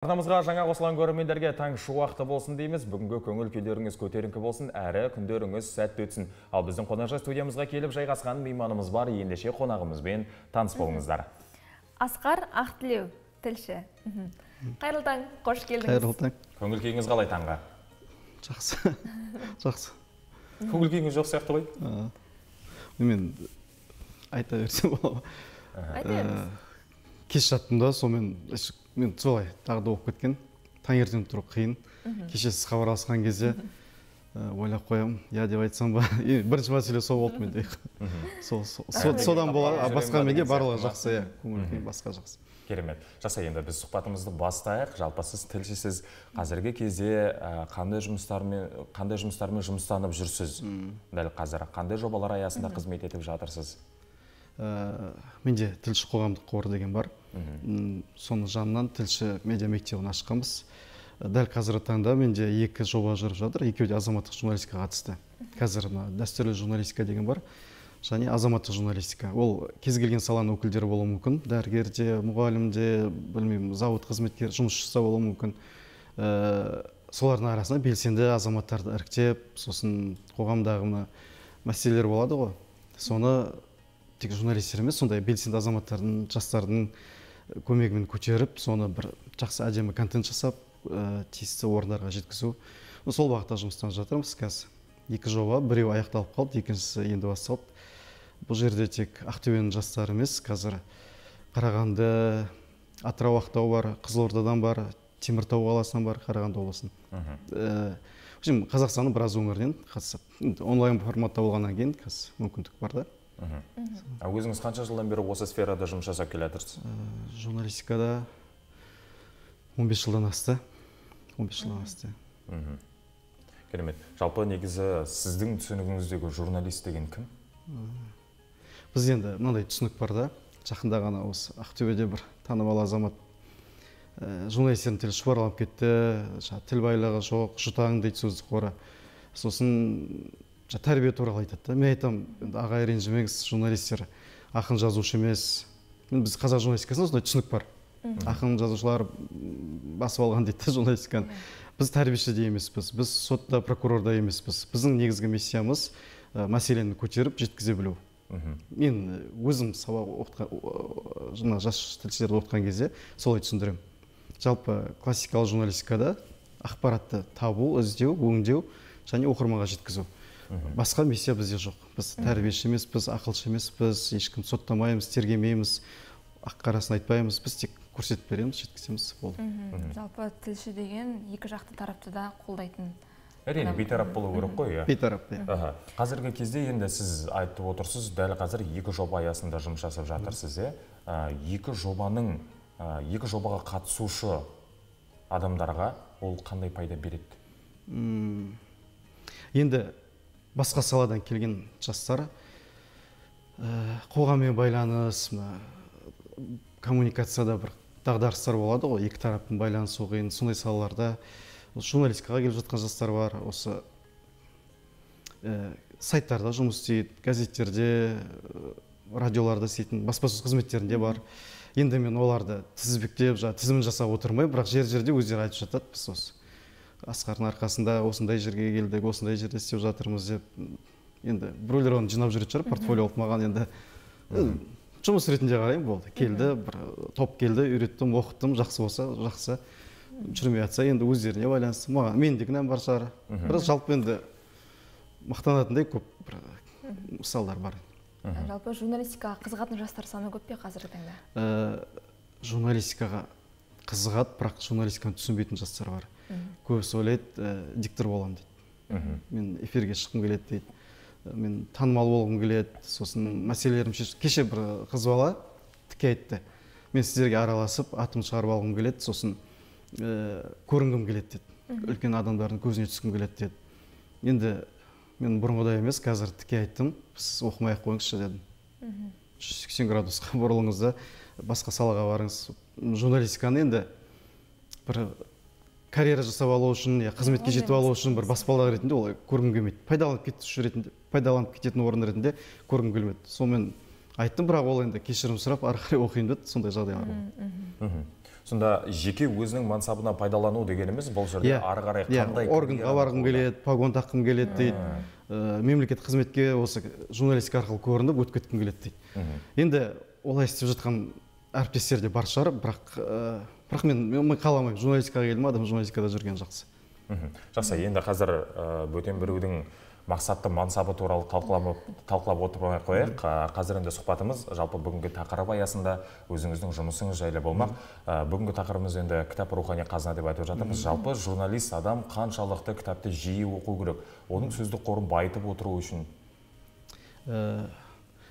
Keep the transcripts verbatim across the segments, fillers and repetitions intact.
Арнамызға жаңа қосылған көрермендерге таң шуақты болсын дейміз. Бүгінгі көңіл күйлеріңіз көтеріңкі болсын, әрі күндеріңіз сәтті өтсін. Ал біздің қонақжай студиямызға келіп жайғасқан мейманымыз бар, ендеше қонағымызбен таныс болыңыздар. Асқар Ақтілеу, тілші. Қайырлы таң, қош келдіңіз. Қайырлы таң. Көңіл күйіңіз қалай таңға? Жақсы. Жақсы. Көңіл күйіңіз жоқ сияқты ғой? Мен айта берсем болады. Айта беріңіз. Кеш жаттым да, сонымен мен солай тағы да оқып кеткен. Таңертең тұру қиын. Кеше сіз хабарласқан кезде ойлап қоямын, я деп айтсам ба. Бірінші мәселе сол болды менде. Содан болады, басқа менде барлығы жақсы, көңіл күй басқа жақсы. Керемет. Жақсы, енді біз сұхбатымызды бастайық. Жалпы сіз тілшісіз, қазіргі кезде қандай жұмыстармен қандай жұмыстармен жұмыстанып жүрсіз? Дәл қазір қандай жобалар аясында қызмет етіп жатырсыз? Менде тілші қоғамдық қоры деген бар. Соның жанынан тілші медиа мектебін ашқанбыз. Дәл қазіргі таңда менде екі жоба жүріп жатыр. Екеуі де азаматтық журналистикаға қатысты. Қазір дәстүрлі журналистика деген бар, және азаматтық журналистика. Ол кез келген саланың өкілдері болуы мүмкін. Дәрігерде, мұғалімде, білмеймін, зауыт қызметкер, жұмысшысы болуы мүмкін. Солардың арасында белсенді азаматтарды іріктеп, сосын қоғамдағы мәселелер болады ғой. Соны тек журналистер емес, сондай белсенді азаматтардың, жастардың көмегімен көтеріп, соны бір жақсы әдемі контент жасап, тиісті орындарға жеткізу. Сол бағытта жұмыстан жатырмыз қазір. Екі жоба, біреу аяқталып қалды, екіншісі енді басталды. Бұл жерде тек Ақтөбенің жастары емес, қазір Қарағанды, Атырау, Ақтау бар, Қызылордадан бар, Теміртау қаласынан бар, Қарағанды облысынан. Қазақстанның біраз өңірінен қатысып, онлайн форматта болғаннан кейін қазір мүмкіндік бар да. Өзіңіз қанша жылдан бері осы сферада жұмыс жасап келе жатырсыз? Журналистикада он бес жылдан асты. он бес жылдан асты. Керемет. Жалпы негізі сіздің түсінігіңіздегі журналист деген кім? Біз енді мынандай түсінік бар да. Жақында ғана осы Ақтөбеде бір танымал азамат журналистердің тілі шұбарланып кетті. Тіл байлығы жоқ, жұтаң дейді сөздік қоры. Сосын тәрбие туралы айтады. Мен айтам, ағай ренжімеңіз, журналистер ақын жазушы емес. Біз қазақ журналистикасында сондай түсінік бар. Ақын жазушылар басып алған дейді журналистиканы. Біз тәрбиеші де емеспіз, біз сотта, прокурорда емеспіз. Біздің негізгі миссиямыз мәселені көтеріп жеткізе білу. Мен өзім сабақ оқытқан, жас тілшілерді оқытқан кезде солай түсіндірем. Жалпы классикалық журналистикада ақпаратты табу, іздеу, өңдеу және оқырманға жеткізу. Басқа миссия бізде жоқ. Біз тәрбиеші емес, біз ақылшы емес, біз ешкім соттамаймыз, тергемейміз, ақ-қарасын айтпаймыз, біз тек көрсетіп береміз, жеткіземіз. Жалпы тілші деген екі жақты тарапты да қолдайтын. Әрине, бейтарап болу керек қой. Бейтарап. Қазіргі кезде енді сіз айтып отырсыз, дәл қазір екі жоба аясында жұмыс жасап жатырсыз. Екі жобаның, екі жобаға қатысушы адамдарға ол қандай пайда береді? Енді басқа саладан келген жастар қоғаммен байланыс, коммуникацияда бір дағдарыстар болады ғой, екі тараптың байланысу қиын, сондай салаларда журналистикаға келіп жатқан жастар бар. Осы сайттарда жұмыс істейді, газеттерде, радиоларда істейтін, баспасөз қызметтерінде бар. Енді мен оларды тізбектеп, тізімін жасап отырмай, бірақ жер-жерде өздері айтып жатады. Біз осы Асқардың арқасында осындай жерге келдік, осындай жерде істеп жатырмыз деп. Енді біреулер оны жинап жүретін шығар, портфолио алып маған енді жұмыс ретінде қараймын, болды. Келді, бір топ келді, үйреттім, оқыттым, жақсы болса, жақсы. Жүрмей жатса, енді өздеріне байланысты. Маған мен де кінәм бар шығар. Бірақ жалпы енді мақтанатындай көп мысалдар бар. Жалпы журналистикаға қызығатын жастар саны көп пе қазіргі таңда? Журналистикаға қызығады, бірақ журналистиканы түсінбейтін жастар бар. Көбісі ойлайды, диктор боламын дейді. Мен эфирге шыққым келеді дейді. Мен танымал болғым келеді. Сосын мәселелерім шешіп. Кеше бір қыз бала тіке айтты. Мен сіздерге араласып, атым шығарып алғым келеді. Сосын көрінгім келеді деді. Үлкен адамдардың көзіне түскім келеді деді. Енді мен бұрынғыдай емес, қазір тіке айттым. Сіз оқымай-ақ қойыңызшы дедім. жүз сексен градусқа бұрылыңыз да басқа салаға барыңыз. Журналистиканы енді бір карьера жасап алу үшін, қызметке жетіп алу үшін бір баспалдақ ретінде олай көргім келмейді. Пайдаланып кетуші ретінде, пайдаланып кететін орын ретінде көргім келмеді. Сонымен айттым, бірақ ол енді кешірім сұрап ары қарай оқиын деді, сондай жағдайлар болды. Сонда жеке өзінің мансабына пайдалану дегеніміз бұл жерде ары қарай қандай органға барғым келеді, погон таққым келеді дейді, мемлекеттік қызметке осы журналистика арқылы көрініп өтіп кеткім келеді дейді. Енді олай істеп жатқан әріптестер де бар шығар, бірақ бірақ мен қаламаймын, журналистикаға келдім, адам журналистикада жүрген жақсы. Жақсы, енді қазір бөтен біреудің мақсатты мансабы туралы талқылап отырмай қояйық. Қазір енді сұхбатымыз жалпы бүгінгі тақырып аясында өзіңіздің жұмысыңыз жайлы болмақ. Бүгінгі тақырыбымыз енді кітап рухани қазына деп айтып жатырмыз. Жалпы журналист адам қаншалықты кітапты жиі оқу керек? Оның сөздік қорын байытып отыру үшін?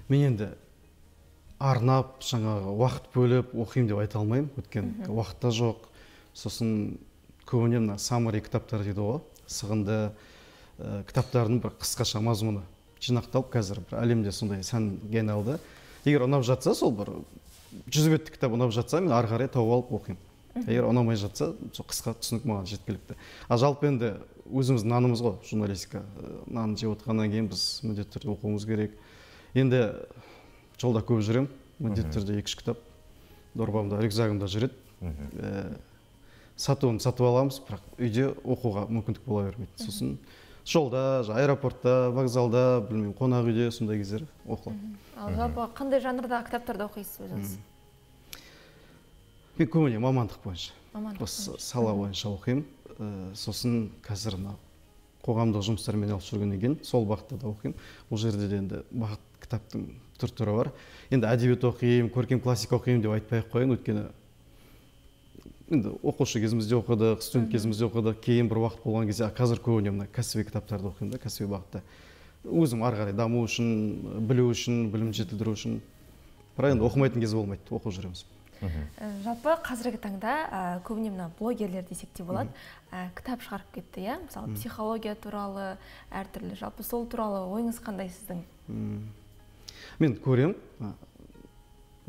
Мен енді арнап, жаңағы уақыт бөліп оқимын деп айта алмаймын. Өйткені уақыт та жоқ. Сосын көбіне мына саммари кітаптар дейді ғой, сығынды кітаптардың бір қысқаша мазмұны жинақталып қазір бір әлемде сондай сәнге айналды. Егер ұнап жатса, сол бір жүз беттік кітап ұнап жатса, мен ары қарай тауып алып оқимын. Егер ұнамай жатса, сол қысқа түсінік маған жеткілікті. А жалпы енді өзіміздің нанымыз ғой, журналистика. Нан жеп отырғаннан кейін біз міндетті түрде оқуымыз керек. Енді жолда көп жүремін, міндетті түрде екі-үш кітап дорбамда, рюкзагымда жүреді. Сатуын сатып аламыз, бірақ үйде оқуға мүмкіндік бола бермейді. Сосын жолда, аэропортта, вокзалда, білмеймін, қонақ үйде сондай кездер оқылады. Ал жалпы қандай жанрда кітаптарды оқисыз өзіңіз? Мен көбіне мамандық бойынша. Осы сала бойынша оқимын. Сосын қазір қоғамдық жұмыстармен алып жүргеннен кейін сол бағытта да оқимын. Ол жерде де енді бағыт кітаптың түр-түрі бар. Енді әдебиет оқимын, көркем классика оқимын деп айтпай-ақ қояйын, өйткені енді оқушы кезімізде оқыдық, студент кезімізде оқыдық, кейін бір уақыт болған кезде қазір көбіне мына кәсіби кітаптарды оқимын да, кәсіби бағытта. Өзім ары қарай даму үшін, білу үшін, білім жетілдіру үшін. Бірақ енді оқымайтын кез болмайды, оқып жүреміз. Жалпы қазіргі таңда көбіне мына блогерлер десек те болады, кітап шығарып кетті, иә? Мысалы, психология туралы, әртүрлі. Жалпы сол туралы ойыңыз қандай сіздің? Мен көрем,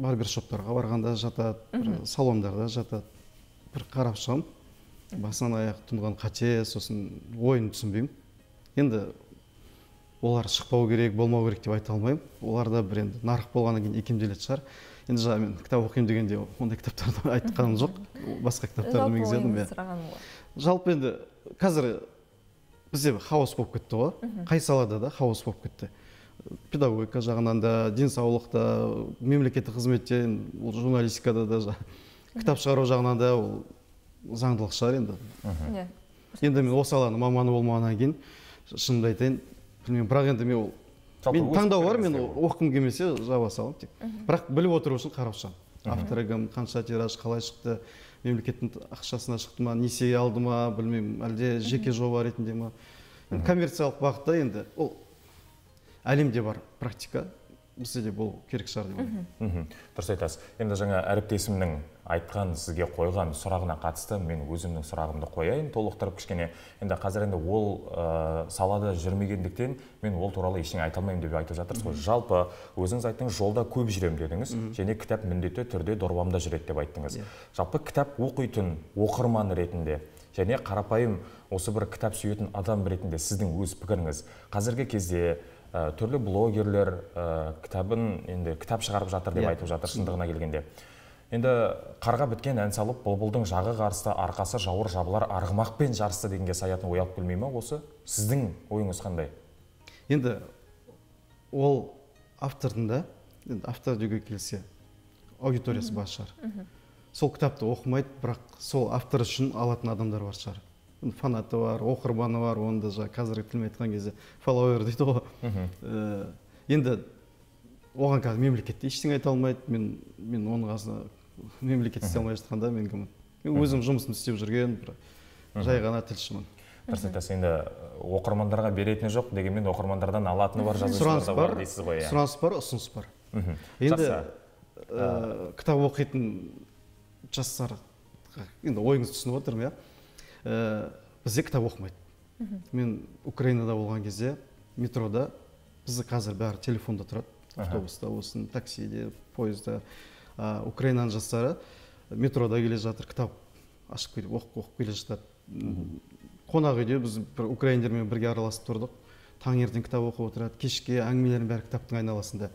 барбершоптарға барғанда жатады, салондарда жатады. Бір қарап шығам, басынан аяқ тұнған қате, сосын ойын түсінбеймін. Енді олар шықпау керек, болмау керек деп айта алмаймын. Оларда бір енді нарық болғаннан кейін икемделетін шығар. Енді жаңа мен кітап оқимын дегенде ондай кітаптарды айтқаным жоқ. Басқа кітаптарды меңзедім. Жалпы енді қазір бізде хаос болып кетті ғой. Қай салада да хаос болып кетті. Педагогика жағынан да, денсаулықта, мемлекеттік қызметте, журналистикада да, кітап шығару жағынан да ол заңдылық шығар енді. Енді мен осы саланың маманы болмағаннан кейін шынымды айтайын, білмеймін, бірақ енді мен мен таңдау бар, мен оқығым келмесе жаба саламын тек. Бірақ біліп отыру үшін қарап шығамын. Авторы кім, қанша тираж, қалай шықты, мемлекеттің ақшасына шықты ма, несие алды ма, білмеймін, әлде жеке жоба ретінде ма. Коммерциялық бағытта енді ол әлемде бар практика. Бізде де бұл керек шығар деп ойлаймын. Дұрыс айтасыз. Енді жаңа әріптесімнің айтқан, сізге қойған сұрағына қатысты мен өзімнің сұрағымды қояйын, толықтырып кішкене. Енді қазір енді ол салада жүрмегендіктен мен ол туралы ештеңе айта алмаймын деп айтып жатырсыз ғой. Жалпы өзіңіз айттыңыз, жолда көп жүремін дедіңіз, және кітап міндетті түрде дорбамда жүреді деп айттыңыз. Жалпы кітап оқитын оқырман ретінде және қарапайым осы бір кітап сүйетін адам ретінде сіздің өз пікіріңіз қазіргі кезде түрлі блогерлер кітабын енді кітап шығарып жатыр деп айтып жатыр шындығына келгенде. Енді қарға біткен ән салып, бұлбұлдың жағы қарысты, арқасы жауыр жабылар, арғымақпен жарысты дегенге саятын оялып келмей ме осы? Сіздің ойыңыз қандай? Енді ол автордың да, автор деуге келсе, аудиториясы бар шығар. Сол кітапты оқымайды, бірақ сол автор үшін алатын адамдар бар шығар. Фанаты бар, оқырманы бар, оны да қазіргі тілмен айтқан кезде фолловер дейді ғой. Енді оған қазір мемлекетте ештеңе айта алмайды. Мен мен оның қасына мемлекет істей алмай жатқанда мен кіммін? Мен өзім жұмысымды істеп жүрген, жай ғана тілшімін. Дұрыс айтасыз, енді оқырмандарға беретіні жоқ, дегенмен оқырмандардан алатыны бар, жазушылар бар дейсіз ғой. Сұраныс бар, ұсыныс бар. Енді кітап оқитын жастар, енді ойыңызды түсініп отырмын, иә. Бізде кітап оқымайды. Мен Украинада болған кезде метрода бізді қазір бәрі телефонда тұрады. Автобуста болсын, таксиде, поезда. Украинаның жастары метрода келе жатыр, кітап ашып келіп оқып келе жатады. Қонақ үйде біз украиндермен бірге араласып тұрдық. Таңертең кітап оқып отырады, кешке әңгімелердің бәрі кітаптың айналасында.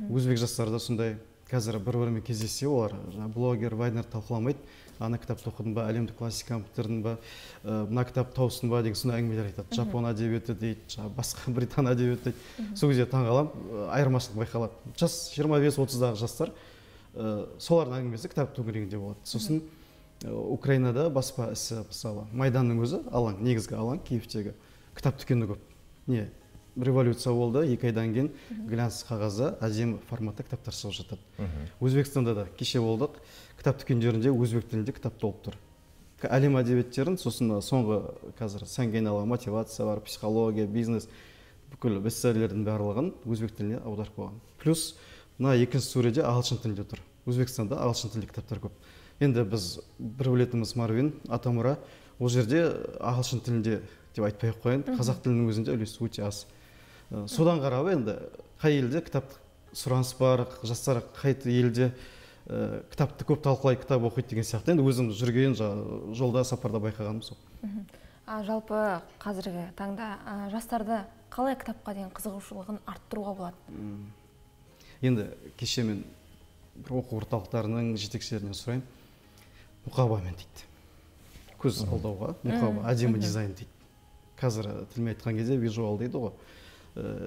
Өзбек жастары да сондай. Қазір бір-бірімен кездессе, олар блогер, вайнер талқыламайды. ана кітапты оқыдың ба, әлемдік классиканы бітірдің ба, мына кітапты тауыстың ба деген сондай әңгімелер айтады. Жапон әдебиеті дейді, басқа британ әдебиеті дейді. Сол кезде таңғаламын, айырмашылық байқалады. Жас жиырма бес отыздағы жастар солардың әңгімесі кітап төңірегінде болады. Сосын Украинада баспа ісі, мысалы, Майданның өзі алаң, негізгі алаң Киевтегі. Кітап дүкені көп. Не? Революция болды, екі айдан кейін глянц қағазда әдемі форматта кітаптар шығып жатады. Өзбекстанда да кеше болдық, кітап дүкендерінде өзбек тілінде кітап толып тұр. Әлем әдебиеттерін, сосын соңғы қазір сәнге айналған мотивация бар, психология, бизнес, бүкіл бестселлердің барлығын өзбек тіліне аударып қойған. Плюс мына екінші сөреде ағылшын тілінде тұр. Өзбекстанда ағылшын тілді кітаптар көп. Енді біз бір білетініміз Марвин, Атамұра, ол жерде ағылшын тілінде деп айтпай ақ қояйын, қазақ тілінің өзінде үлесі өте аз. Содан қарап енді қай елде кітап сұраныс бар, жастар қай елде кітапты көп талқылай, кітап оқиды деген сияқты. Енді өзім жүрген жолда, сапарда байқағаным сол. Жалпы қазіргі таңда жастарды қалай кітапқа деген қызығушылығын арттыруға болады? Енді кеше мен оқу орталықтарының жетекшілерінен сұрайын, мұқабамен дейді. Көз алдауға, мұқаба, әдемі дизайн дейді. Қазір тілмен айтқан кезде визуал дейді ғой.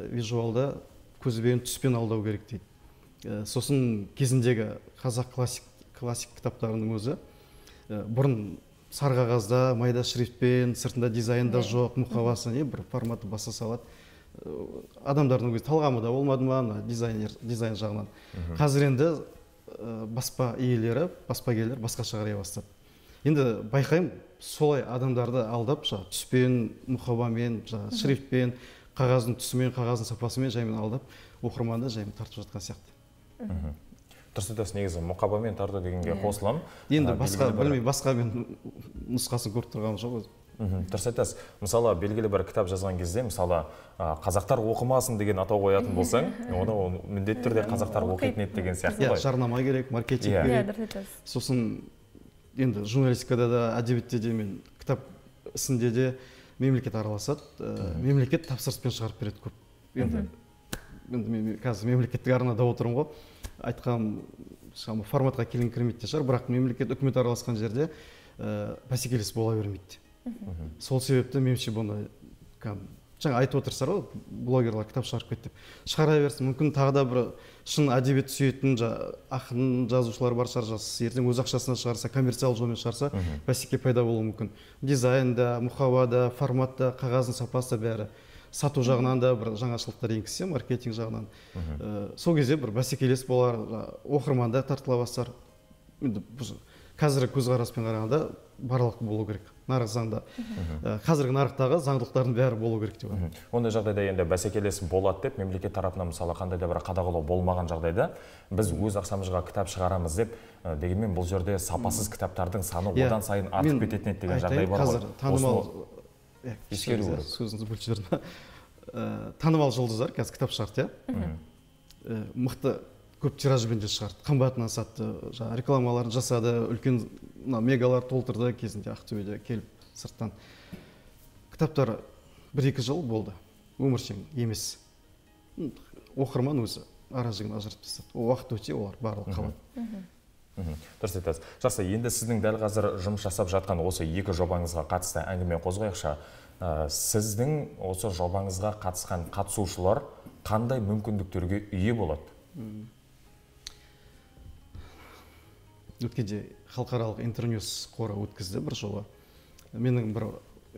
Визуалда көзбен, түспен алдау керек дейді. Сосын кезіндегі қазақ классик кітаптарының өзі бұрын сары қағазда, майда шрифтпен, сыртында дизайнда жоқ, мұқабасы не бір форматы баса салады. Адамдардың өзі талғамы да болмады ма дизайн жағынан. Қазір енді баспа иелері, баспагерлер басқаша қарай бастады. Енді байқаймын, солай адамдарды алдап, түспен, мұқабамен, шрифтпен, қағаздың түсімен, қағаздың сапасымен жаймен алдап, оқырманды жаймен тартып жатқан сияқты. Дұрыс айтасыз, негізі мұқабамен тарту дегенге қосыламын. Енді басқа, білмей, басқа мен нұсқасын көріп тұрғаным жоқ өзі. Дұрыс айтасыз. Мысалы, белгілі бір кітап жазған кезде, мысалы, қазақтар оқымасын деген атау қоятын болсаң, оны міндетті түрде қазақтар оқитын еді деген сияқты ғой. Жарнама керек, маркетинг керек. Сосын енді журналистикада да, әдебиетте де мен кітап ісінде де мемлекет араласады. Мемлекет тапсырыспен шығарып береді көп. Енді мен қазір мемлекеттік арнада отырмын ғой. Айтқан форматқа келген кірмейді шығар, бірақ мемлекет үкімет араласқан жерде бәсекелес бола бермейді. Сол себепті меніңше бұны жаңа айтып отырсыздар ғой, блогерлар кітап шығарып кетті деп. Шығара берсін, мүмкін тағы да бір шын әдебиет сүйетін ақын жазушылар бар шығар, ертең өз ақшасына шығарса, коммерциал жолмен шығарса, бәсеке пайда болуы мүмкін. Дизайнда, мұқабада, форматта, қағаздың сапасы бәрі. Сату жағынан да бір жаңашылықтар енгізсе, маркетинг жағынан. Сол кезде бір бәсекелес болар, оқырманда тартыла бастар. Қазіргі көзқараспен қарағанда барлық болу керек. Нарық заңда. Қазіргі нарықтағы заңдылықтардың бәрі болу керек деп ойлаймын. Ондай жағдайда енді бәсекелес болады деп, мемлекет тарапынан мысалы қандай да бір қадағалау болмаған жағдайда біз өз ақшамызға кітап шығарамыз деп, дегенмен бұл жерде сапасыз кітаптардың саны одан сайын артып кететін еді деген жағдай бар ғой. Қазір танымал ескеру керек. Сөзіңізді бөліп жібердім. Танымал жұлдыздар қазір кітап шығарды, иә. Мықты көп тиражбен де шығарды, қымбатынан сатты, рекламаларын жасады, үлкен мегалар толтырды кезінде Ақтөбеде келіп сырттан. Кітаптар бір-екі жыл болды, өміршең емес. Оқырман өзі ара-жігін ажыратып тастады. Ол уақыт өте олар барлығы қалады. Дұрыс айтасыз. Жақсы, енді сіздің дәл қазір жұмыс жасап жатқан осы екі жобаңызға қатысты әңгіме қозғайықшы. Сіздің осы жобаңызға қатысқан қатысушылар қандай мүмкіндіктерге ие болады? Өткенде халықаралық интерньюс қоры өткізді бір жолы. Менің бір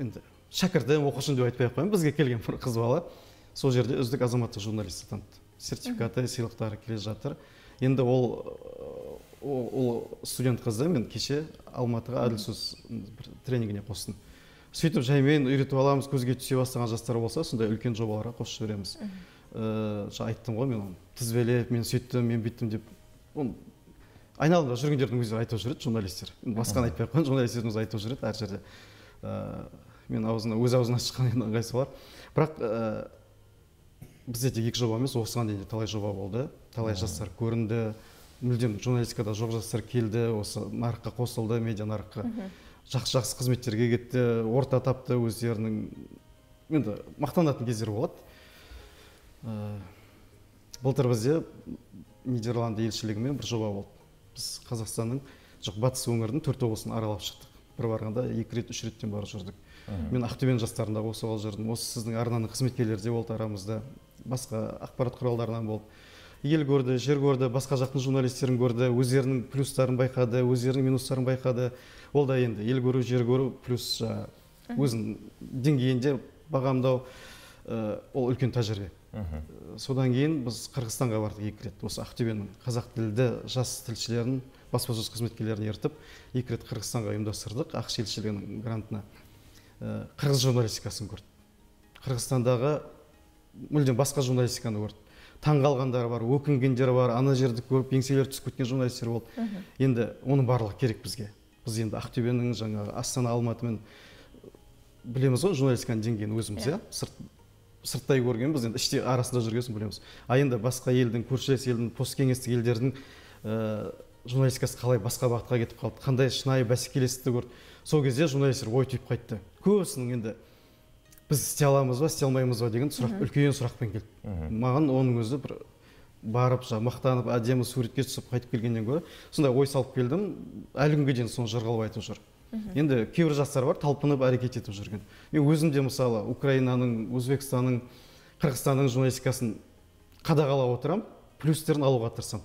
енді шәкіртім, оқушым деп айтпай ақ қояйын, бізге келген бір қыз бала сол жерде үздік азаматтық журналист атанды. Сертификаты, сыйлықтары келе жатыр. Енді ол ол студент қызды мен кеше Алматыға әділ сөз тренингіне қостым. Сөйтіп жаймен үйретіп аламыз, көзге түсе бастаған жастар болса, сондай үлкен жобаларға қосып жібереміз. Айттым ғой, мен тізбелеп, мен сөйттім, мен бүйттім деп. Айналымда жүргендердің өздері айтып жүреді, журналистер. Басқаны айтпай ақ қойын, журналистердің өзі айтып жүреді әр жерде. Мен өз аузынан шыққан ыңғайсы бар. Бірақ бізде тек екі жоба емес, осыған дейін талай жоба болды. Талай жастар көрінді. Мүлдем журналистикада жоқ жастар келді, осы нарыққа қосылды, медиа нарыққа. Жақсы-жақсы қызметтерге кетті, орта тапты өздерінің. Енді мақтанатын кездер болады. Былтыр бізде Нидерланды елшілігімен бір жоба болды. Біз Қазақстанның жоқ батыс өңірдің төрт облысын аралап шықтық. Бір барғанда екі рет үш реттен барып жүрдік. Мен Ақтөбенің жастарында осы ол жүрдім. Осы сіздің арнаның қызметкерлері де болды арамызда, басқа ақпарат құралдарынан болды. Ел көрді, жер көрді, басқа жақтың журналистерін көрді, өздерінің плюстарын байқады, өздерінің минустарын байқады. Ол да енді ел көру, жер көру плюс өзінің деңгейінде бағамдау, ол үлкен тәжірибе. Содан кейін біз Қырғызстанға бардық екі рет. Осы Ақтөбенің қазақ тілді жас тілшілерін, баспасөз қызметкерлерін ертіп, екі рет Қырғызстанға ұйымдастырдық, ақш елшілігінің грантына. Қырғыз журналистикасын көрді. Қырғызстандағы мүлдем басқа журналистиканы көрді. Таңғалғандар бар, өкінгендер бар, ана жерді көріп еңселері түсіп кеткен журналистер болды. Енді оның барлығы керек бізге. Біз енді Ақтөбенің жаңағы Астана, Алматымен білеміз ғой журналистиканың деңгейін өзіміз, иә? Сырттай көрген, біз енді іште арасында жүргесін білеміз. А енді басқа елдің, көршілес елдің, посткеңестік елдердің журналистикасы қалай басқа бағытқа кетіп қалды, қандай шынайы бәсекелестікті көрді. Сол кезде журналистер ой түйіп қайтты. Көбісінің енді біз істей аламыз ба, істей алмаймыз ба деген сұрақ, үлкен сұрақпен келді. Маған оның өзі бір барып, мақтанып, әдемі суретке түсіп қайтып келгеннен гөрі сондай ой салып келдім. Әлі күнге дейін соны жырғалып айтып жүр. Енді кейбір жастар бар, талпынып әрекет етіп жүрген. Мен өзім де мысалы Украинаның, Өзбекстанның, Қырғызстанның журналистикасын қадағалап отырам, плюстерін алуға тырысам.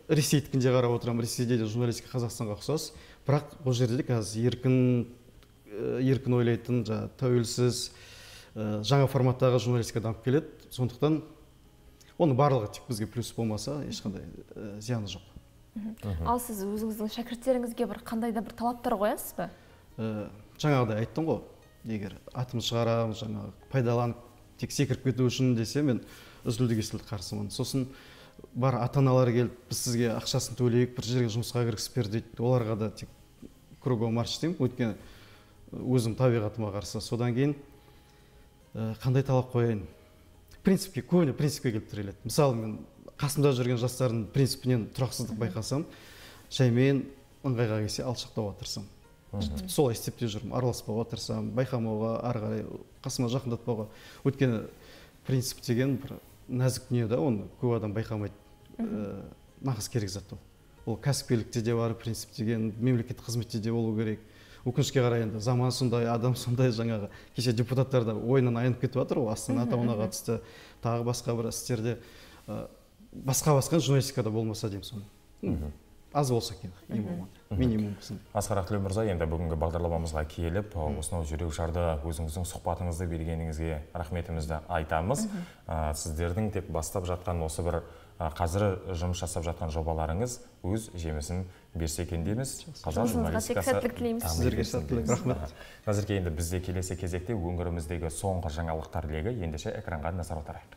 Ресейдікін де қарап отырам, Ресейде де журналистика Қазақстанға ұқсас, бірақ бұл жерде де қазір еркін еркін ойлайтын, тәуелсіз, жаңа форматтағы журналистика дамып келеді. Сондықтан оның барлығы тек бізге плюс болмаса, ешқандай зияны жоқ. Ал сіз өзіңіздің шәкірттеріңізге бір қандай да бір талаптар қоясыз ба? Жаңағыдай айттым ғой, егер атым шығарам, жаңағы пайдаланып тек секіріп кету үшін десе, мен үзілді-кесілді қарсымын. Сосын бар ата-аналар келіп, біз сізге ақшасын төлейік, бір жерге жұмысқа кіргізіп бер дейді. Оларға да тек кругом марш деймін, өйткені өзім табиғатыма қарсы. Содан кейін қандай талап қояйын? Принципке, көбіне принципке келіп тіреледі. Мысалы, мен қасымда жүрген жастардың принципінен тұрақсыздық байқасам, жаймен ыңғайға келсе алшақтауға тырысам. Солай істеп те жүрмін, араласпауға тырысам, байқамауға, ары қарай қасыма жақындатпауға. Өйткені принцип деген бір нәзік дүние да, оны көп адам байқамайды. Нағыз керек зат ол. Ол кәсіпкерлікте де бар принцип деген, мемлекеттік қызметте де болу керек. Өкінішке қарай енді заман сондай, адам сондай, жаңағы кеше депутаттар да ойынан айнып кетіп жатыр, ол Астана атауына қатысты, тағы басқа бір істерде басқа-басқа журналистикада болмаса деймін соны. Аз болса екен, ең болмады, минимум болсын. Асқар Ақтілеу мырза, енді бүгінгі бағдарламамызға келіп, осынау жүрек жарды өзіңіздің сұхбатыңызды бергеніңізге рахметімізді айтамыз. Сіздердің тек бастап жатқан осы бір қазір жұмыс жасап жатқан жобаларыңыз өз жемісін берсе екен дейміз. Қазақ журналистикасы сіздерге сәттілік, рахмет. Қазірге енді бізде келесі кезекте өңіріміздегі соңғы жаңалықтар легі ендеше экранға назар аударайық.